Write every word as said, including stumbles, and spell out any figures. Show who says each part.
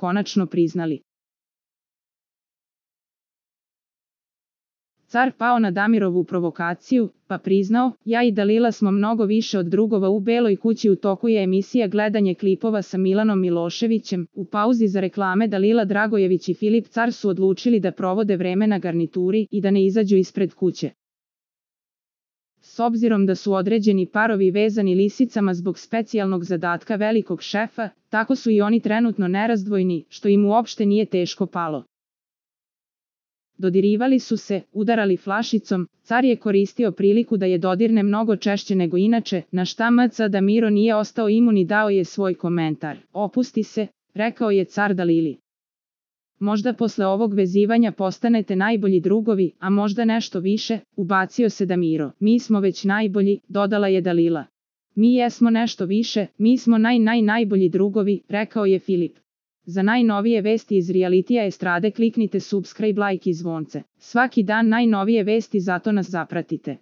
Speaker 1: konačno priznali. Car pao na Damirovu provokaciju, pa priznao, ja i Dalila smo mnogo više od drugova u Beloj kući. U toku je emisija gledanje klipova sa Milanom Miloševićem. U pauzi za reklame Dalila Dragojević i Filip Car su odlučili da provode vreme na garnituri i da ne izađu ispred kuće. S obzirom da su određeni parovi vezani lisicama zbog specijalnog zadatka velikog šefa, tako su i oni trenutno nerazdvojni, što im uopšte nije teško palo. Dodirivali su se, udarali flašicom, car je koristio priliku da je dodirne mnogo češće nego inače, na šta M C Damiro nije ostao imun i dao je svoj komentar. Opusti se, rekao je car Dalili. Možda posle ovog vezivanja postanete najbolji drugovi, a možda nešto više, ubacio se Damiro. Mi smo već najbolji, dodala je Dalila. Mi jesmo nešto više, mi smo naj naj najbolji drugovi, rekao je Filip. Za najnovije vesti iz realitija estrade kliknite subscribe, like i zvonce. Svaki dan najnovije vesti, zato nas zapratite.